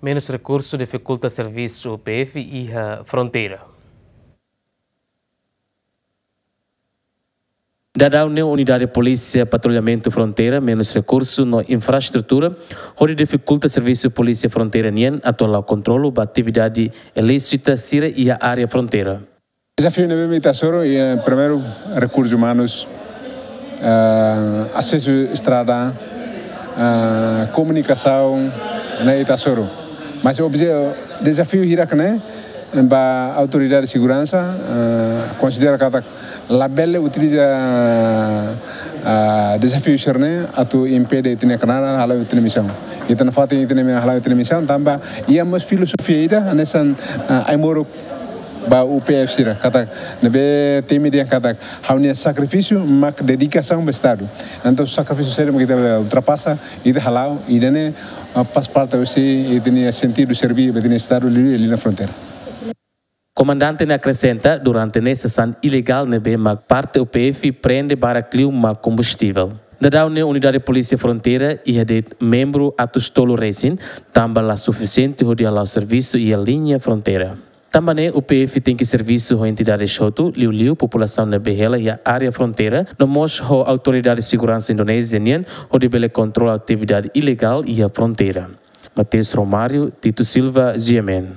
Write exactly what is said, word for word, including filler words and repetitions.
Menus rekursu difikulta servisu U P F iha fronteira. Daudaun ne'e Unidade Polísia Patrullamentu Fronteira menus rekursu no infraestrutura, hodi difikulta servisu Polísia Fronteira nian atu halo kontrolu ba atividade ilísita sira iha área fronteira. Dezafiu ne'ebé ita hasoru, eh, primeiru, rekursus umanus, ah, asesu estrada, ah, komunikasaun, ne'e ita hasoru. Mas obje-, dezafiu hirak ne'e, ba autoridade seguransa, ah, konsidera katak labele utiliza, ah, dezafiu sira-ne'e atu impede ita-nia knaar halo ita-nia misaun. Ita nafatin ita-nia hala'o ita-nia misaun, tanba iha mós filozofia ida, hanesan, ah, ai-moruk ba U P F sira, katak, ne'ebé temi dehan katak, ha'u-nia sakrifísiu mak dedikasaun ba Estadu. Entaun sakrifísiu sira mak ita ultrapasa, ita hala'o, ida-ne'e, ah, faz parte husi ita-nia sentidu serbí ba ita-nia Estadu liuliu iha liña fronteira. Komandante ne'e akresenta, durante ne'e sasán ilegál ne'ebé mak parte U P F prende barak liu mak kombustivel. Daudaun ne'e Unidade Polísia Fronteira iha de'it membru atus tolu resin, tanba la sufisiente hodi hala'o servisu iha liña fronteira. Tanba ne'e U P F tenke servisu ho entidades hotu, liuliu populasaun ne'ebé hela iha área fronteira, no mós ho autoridade seguransa Indonézia nian, hodi bele kontrola atividade ilegál iha fronteira. Mateus Romário, Tito Silva, G M N.